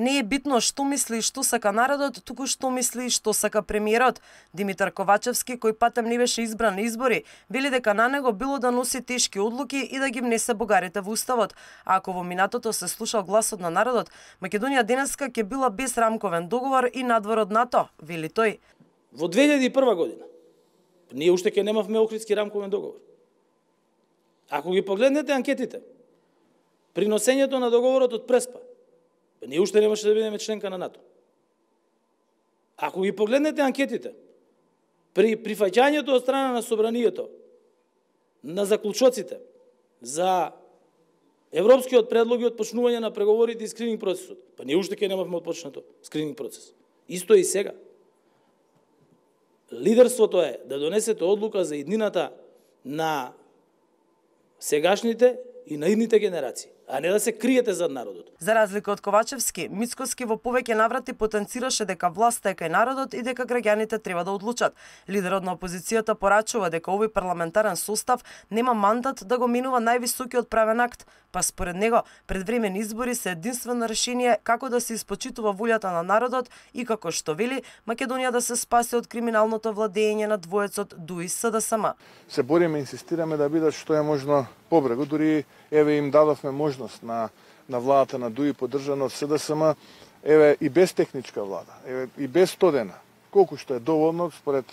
Не е битно што мисли и што сака народот, туку што мисли и што сака премиерот. Димитар Ковачевски, кој патем не беше избран на избори, вели дека на него било да носи тешки одлуки и да ги внесе бугарите во уставот. А ако во минатото се слушал гласот на народот, Македонија денеска ќе била без рамковен договор и надвор од НАТО, вели тој. Во 2001 година ние уште ќе немавме Охридски рамковен договор. Ако ги погледнете анкетите, при носењето на договорот од Преспа, ние уште немаше да бидеме членка на НАТО. Ако ги погледнете анкетите, при прифаќањето од страна на собранието на заклучоците за европскиот предлоги од почнување на преговорите и скрининг процесот, ние уште ќе немавме отпочнато скрининг процес. Исто и сега. Лидерството е да донесете одлука за иднината на сегашните и на идните генерации, а не да се криете зад народот. За разлика од Ковачевски, Мицкоски во повеќе наврати потенцираше дека власта е кај народот и дека граѓаните треба да одлучат. Лидерот на опозицијата порачува дека овој парламентарен состав нема мандат да го менува највисокиот правен акт, па според него предвремени избори се единствено решение како да се испочитува волјата на народот и како што вели Македонија да се спаси од криминалното владење на двоецот ДУИ СДСМ. Се бориме и инсистираме да бидат што е можно побрегу, дури еве им дадовме можност на владата на ДУИ поддржана од СДСМ, еве и без техничка влада, еве и без 100 дена, колку што е доволно според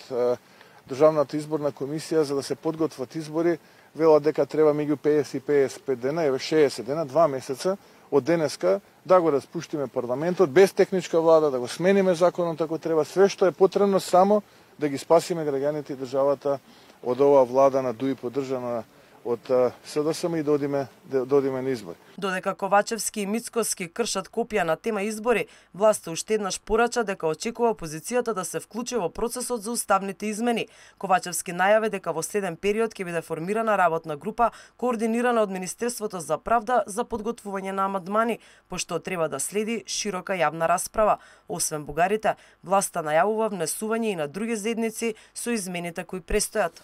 Државната изборна комисија за да се подготват избори, велат дека треба меѓу 50 и 55 дена, еве 60 дена, 2 месеца од денеска да го распуштиме парламентот без техничка влада, да го смениме законот ако треба, све што е потребно само да ги спасиме граѓаните и државата од оваа влада на ДУИ поддржана од СДСМ и додиме на избори. Додека Ковачевски и Мицкоски кршат копија на тема избори, власта уште еднаш порача дека очекува опозицијата да се вклучи во процесот за уставните измени. Ковачевски најави дека во следен период ќе биде формирана работна група координирана од Министерството за правда за подготвување на амандмани, пошто треба да следи широка јавна расправа. Освен бугарите, власта најавува внесување и на други заедници со измените кои престојат.